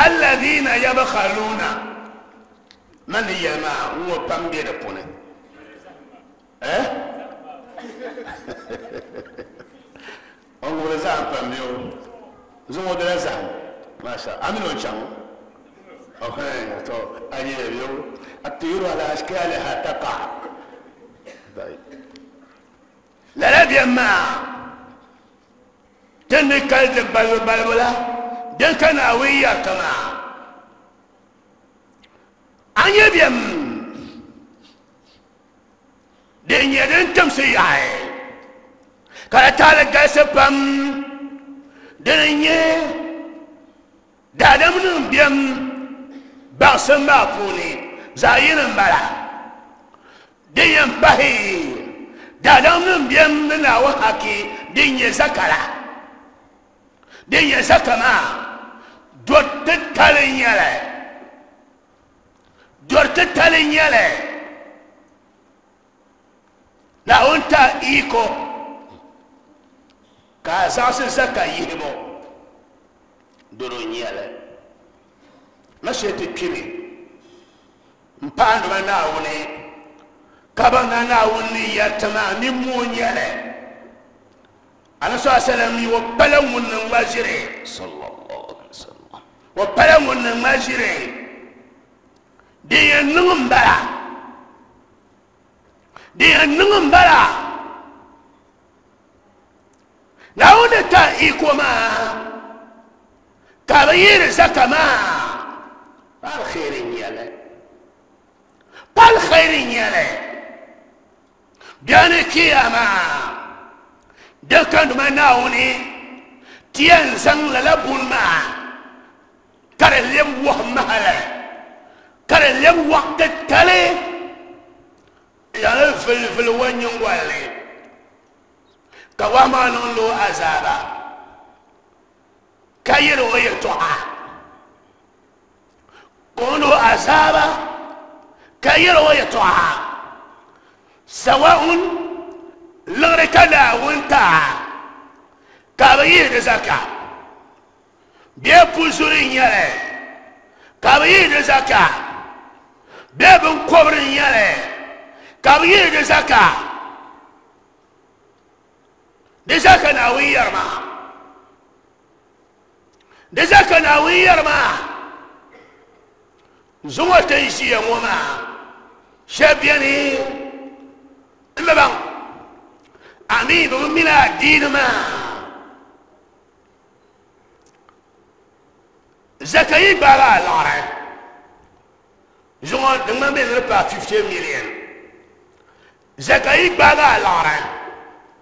الذين يبخلون من يما هو بامبير بونه eh on go zam pambio zumo de zam masha amino chang okay to aye yo الطيور على اشكالها تقع طيب لا لا بيما تنكل بل بل بلا دن اويا كما اني بيم دن يدن تمسي اي كارتال غاسبم دن دادم نم بيم باسم بابوني زاين بلا دن ينبهي دادم نم بيم ناوحكي دن يزكرا دين يزكما دورت تالين دورت تالين لا انت ايكو كاساس زكا يهبو درونيالا مشيت كيمي مباند مناوني كبانا ناوني يتما نمونيالا أنا صلى الله عليه وسلم وبلون المجري صلى الله عليه وسلم وبلون المجري دي النمبرة دي النمبرة نعود تأيكما كبير زكما بالخير يلا بالخير يلا بيانكيما دكان ما ناوني تيان زن للبون ما كرلم وهمها كرلم وقت التالي يعني في في الوين ينقلي كواما نلو عذابا كيرو يتوها كونو عذابا كيرو يتوها سواء لغركنا وانت كابير زكا بيبوزورين يالي كابير زكا بيبن كوبرين يالي كابير زكا دي زكا ناوي يرما دي زكا ناوي يرما زمو تنشي يا شابيني إما أمين بمنا دين ما زكاي بارا لارا جون دما بين ربا خمسين مليون زكاي بارا لارا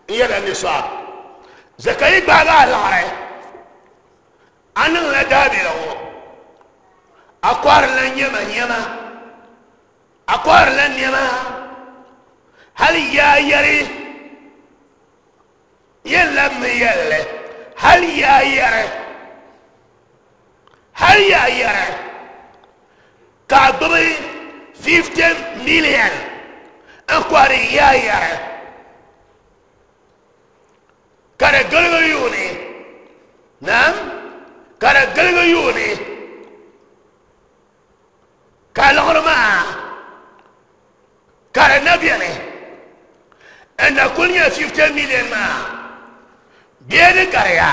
يلا نصاب زكاي بارا لارا أنا لا دابي له أقوار لن يما يما أقوار لن يما هل يا يري يلا يلا هل يا يرى هل يا يرى كعبري خمسين مليون اكواري يا يرى كارغليوني نعم كارغليوني كالغرما كارنبيني ان كل خمسين مليون ما بيد كاريا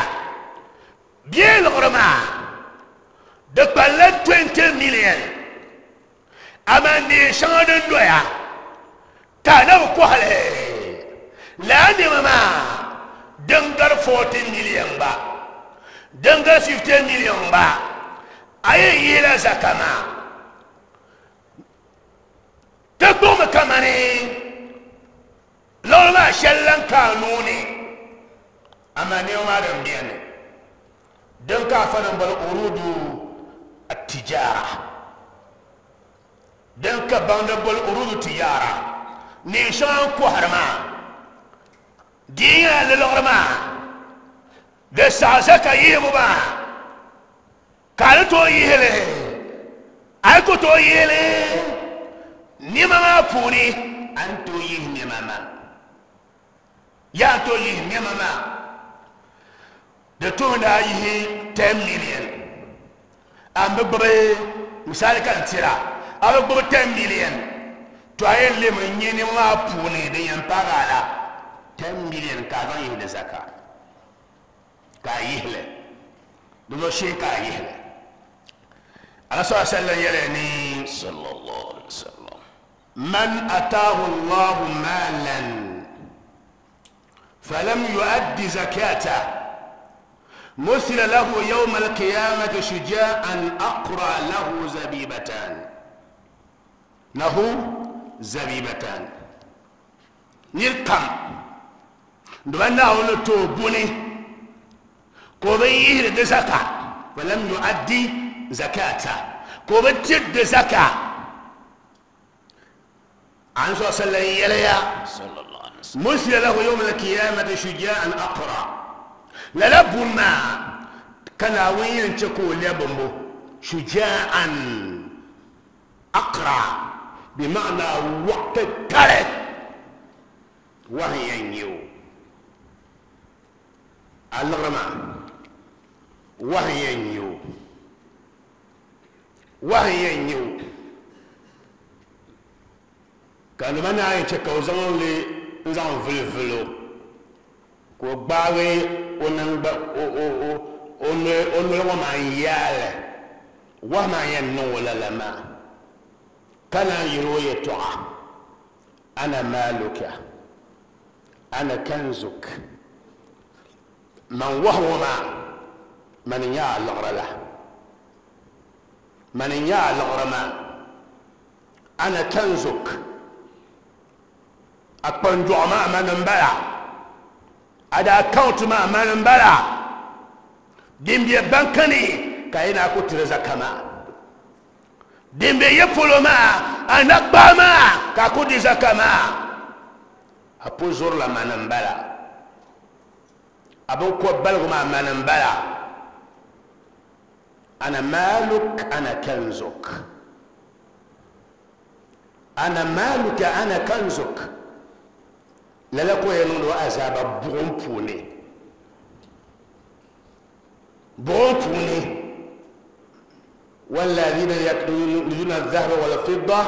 بيد غرما دقبل عشرين مليون اما نيشان دويا كانوا كوالي لا نما دنگر أربعين مليون با دنگر خمسين مليون با اي يلا زكما تقوم كماني لولا شلن قانوني أما نيوم آدم بياني دنكا فنن بالأرود التجارة دنكا باند بالأرود التجارة نيشان كوهرما دينا للغرما دسعسكا يهبما كالتو يهلي أكو تو يهلي نيماما بوني أنتو يه نيماما يا تو يه نيماما Di tooni daa yihi ten million an bi gbubi misali ka n tira a bi gbubi ten million to a yɛn lemi n nyɛ nima maa puuni din yɛn paagi a la ten million ka a zaŋ yihi di zaka ka a yihili di zuɣu shee ka a yihili ala sallallahu alaihi wasallam yɛli ni sallallahu alaihi wasallam man ataahu Allahu maalan falam yuaddi zakata مثل له يوم القيامة شجاعا أقرأ له زبيبتان له زبيبتان نركم دوانا ونتوبوني كوبي يهد زكاة ولم يؤدي زكاة كوبي تد زكاة عن صلى الله عليه وسلم مثل له يوم القيامة شجاعا أقرأ للبما كان وين تكو لبمو شجاعا أقرأ بمعنى وقت التالت وهي ينيو الغرما وهي ينيو وهي ينيو كانوا منا يتكو زمان لي نزان فلفلو ko gbawe onangba o o o ono ono wa man yale wa man yan no wala lama kana yiro yetoa ana maluka ana kanzuk man wahuma man ya al-ghrala man ya al-ghrama ana kanzuk akpanju ma man mbala ada account ma man mbala dimbe bankani kayina ko tireza kama dimbe yepolo ma anakba ma ka ko diza kama apozor la man mbala abon ko balgo ma man mbala ana maluk ana kanzuk ana maluka ana kanzuk lala ko yɛn niŋdi o azaaba buɣum puuni buɣum puuni والذين يكنزون الذهب والفضة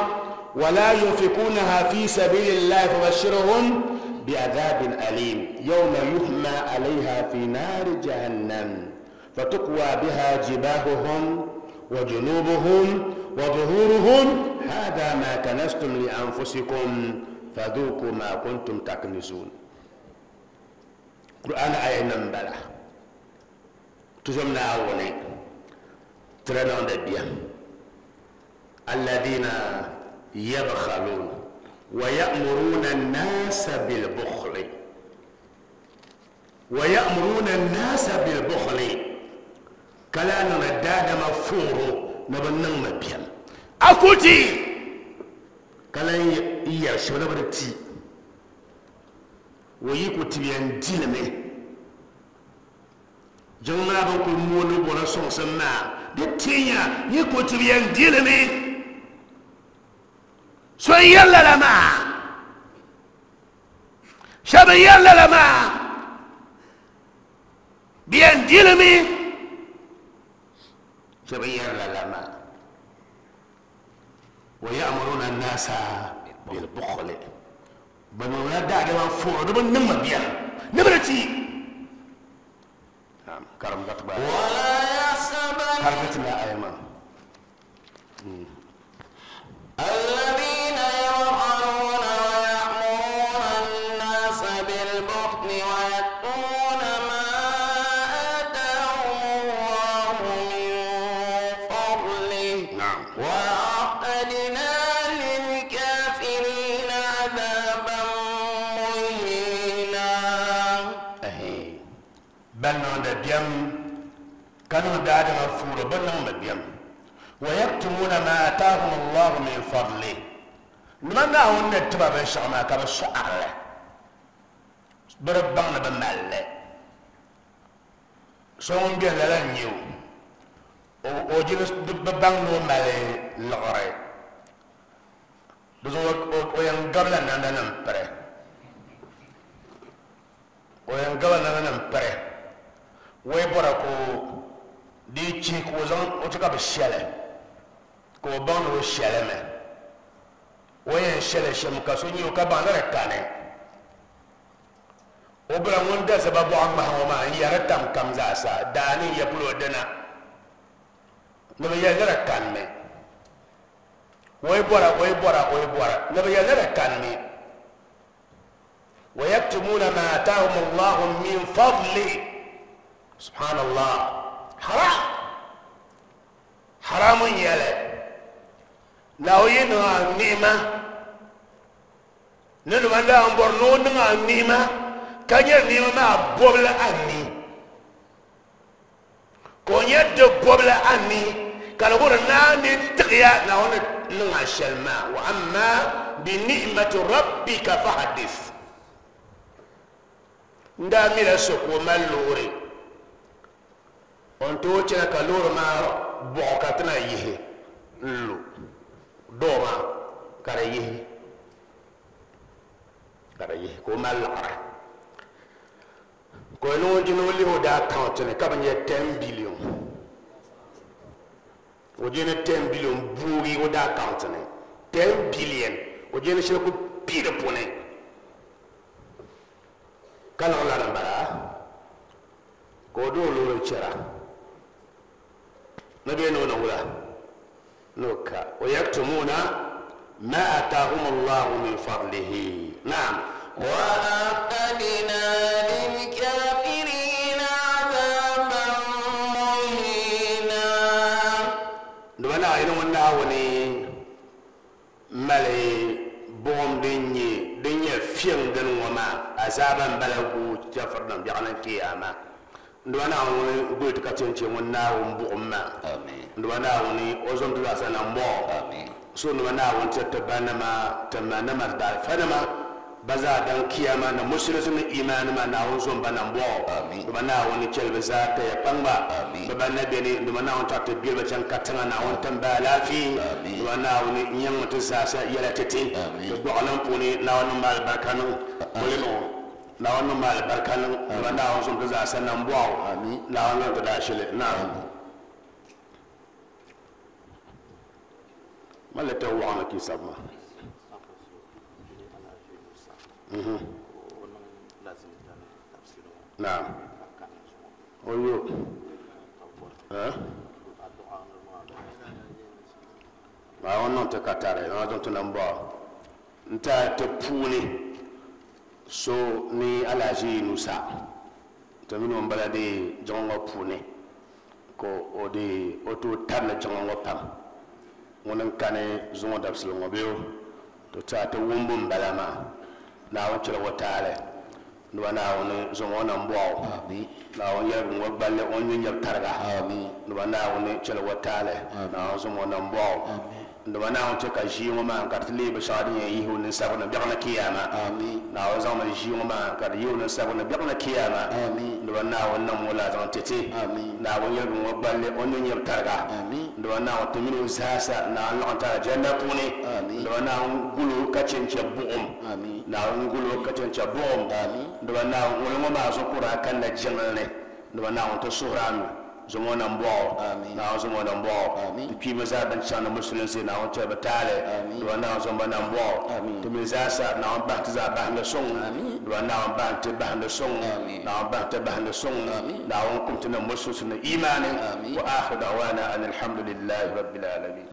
ولا ينفقونها في سبيل الله فبشرهم بعذاب أليم يوم يحمى عليها في نار جهنم فتقوى بها جباههم وجنوبهم وظهورهم هذا ما كنزتم لأنفسكم فذوقوا ما كنتم تكنزون. قرآن آية نمبلا تزمنا أولي ترنون دبيا الذين يبخلون ويأمرون الناس بالبخل ويأمرون الناس بالبخل كلا نداد مفور نبنن مبيا أكوتي kala iya shona bada ti wo yi ko tibiyan dilme jangma ban ko mono bona songsan ma de tinya yi ko tibiyan dilme so yalla la ma shaba yalla la ma biyan dilme shaba yalla la ma ويأمرون الناس بالبخل بنو لا دعوة فور دبن نما بيا نبرتي نعم كرم قطبة ولا يحسبن كرمتنا أيمان الذين يبخلون ويأمرون الناس بالبخل ويكتمون ما آتاهم الله من فضله نعم وأعتدنا للكافرين عذابا مهينا. أهي بل نون كانوا دادما فور بل نون بيم ويكتمون ما آتاهم الله من فضله نمنا هون نتبع بشعما كما شعر بربنا بمال سون بيان لالنيو o jina bang no male lore do o yan gabla nan nan pare o yan gabla nan nan pare Wai bɔra ko di chi ko zaŋ o ti ka bi shɛli ka o baŋ ni o shɛli mi o yɛn shɛli shɛm ka so nyɛ o ka baŋ ni di kani o bala ŋun da zaba bɔɣu ŋmahi ŋɔ maa n yɛri tam kam zaasa daani n yɛ polo dina ni bi yɛli ni di kani mi o yi bɔra o yi bɔra o yi bɔra ni bi yɛli ni di kani mi wa yaktumuna ma atahum Allahu min fadli subhanallah haram haram n yɛli na o yi niŋ a ni'ima ni nima daa n bɔri ni o niŋ a ni'ima ka nyɛ ni'ima maa bɔbili a ni ka o nyɛ di bɔbili a ni ka di wuhiri naa ni tiɣiya Naawuni niŋ a shɛli maa wa amma bi ni'mati rabbika fahaddith n daa mila so ka o mali loori o ni tooi chana ka loori maa bɔɣu ka ti na yihi n lu doo maa ka di yihi ka di yihi ka o mali laɣiri ka o niŋ o jini o lihi o daa account ni ka bi nyɛ ten billion o jini ten billion boogi o daa account ni ten billion o jini shɛli ku pii di puuni ka niŋ lana n bala ka o doo loori chɛra ni bee ni o niŋ wula ni o ka o yaktumuna ma atahum Allahu min fadlihi naam وأعتدنا للكافرين عذابا مهينا dama Naawuni ŋun Naawuni mali buɣum din nyɛ din nyɛ fiɛŋ dini ŋɔ maa azaaba n bala gu chɛfurinim biɛɣu ni kiyama dama Naawuni guli ti ka chɛnchɛ ŋun Naawuni buɣum maa dama Naawuni o zom ti zaasa nambɔɣu so dama Naawuni tiri ti banima ti manima ti daalifanima ba zaa dan kiyama na musulinsi ni imaani ma Naawuni zom ba nambɔɣu dama Naawuni chɛli bi zaa taya kpaŋba bi ban na beni dama Naawuni tɔɣi ti beli ba chaŋ katiŋa Naawuni tim ba alaafee dama Naawuni nyaŋmi ti zaasa yɛla ti ti ti gbɔɣilim puuni Naawuni niŋ ma alibarika niŋ kulimi Naawuni niŋ ma alibarika niŋ dama Naawuni zom ti zaasa nambɔɣu Naawuni niŋ ti daashili naam mali ta waɣana ki sabi ma naam o yo Naawuni niŋ ti katari Naawuni zaŋ ti nambɔɣu n ti ti puuni so ni Alhaji Yunusa ti mini o n bala dee jiŋli ŋɔ puuni ka o dee o tooi tabili jiŋli ŋɔ pam ŋuni n kani zuŋɔ dabisili ŋɔ bee to ti a ti wumbu n bala maa Naawuni chɛla o taali dama Naawuni zaŋ o nambɔɣu Naawuni yɛligi ŋɔ gballi o ni nyɛ nyɛbu tariga dama Naawuni chɛla o taali Naawuni zaŋ o nambɔɣu dama Naawuni chɛ ka ʒii ŋɔ maa ka di ti leei binshɛɣu din yɛn yihi o ninsabiri ni biɛɣu ni kiyama Naawuni zaŋmi ʒii ŋɔ maa ka di yihi o ninsabiri ni biɛɣu ni kiyama dama Naawuni niŋ o laa zaŋ ti ti Naawuni yɛligi ŋɔ gballi o ni nyɛ nyɛbu tariga dama Naawuni ti mini o zaasa Naawuni laɣim ti aljanna puuni dama Naawuni guli o ka chɛnchɛ buɣum Naawuni guli o ka chɛnchɛ buɣum dama Naawuni ŋuni ŋɔ maa zuɣu ka o daa kanna jiŋli ni dama Naawuni ti suhuri a mi zaŋ o nambɔɣu Naawuni zaŋ o nambɔɣu ti kpiimi zaa ban chaŋ ni musulinsi Naawuni chɛli bi taali dama Naawuni zaŋ ba nambɔɣu ti mi zaasa Naawuni bahi ti zaa bahindi suŋ dama Naawuni bahi ti bahindi suŋ Naawuni bahi ti bahindi suŋ Naawuni kum ti ni musulinsi ni imaani wa akhiru da'wana an alhamdulillahi rabbil alamin.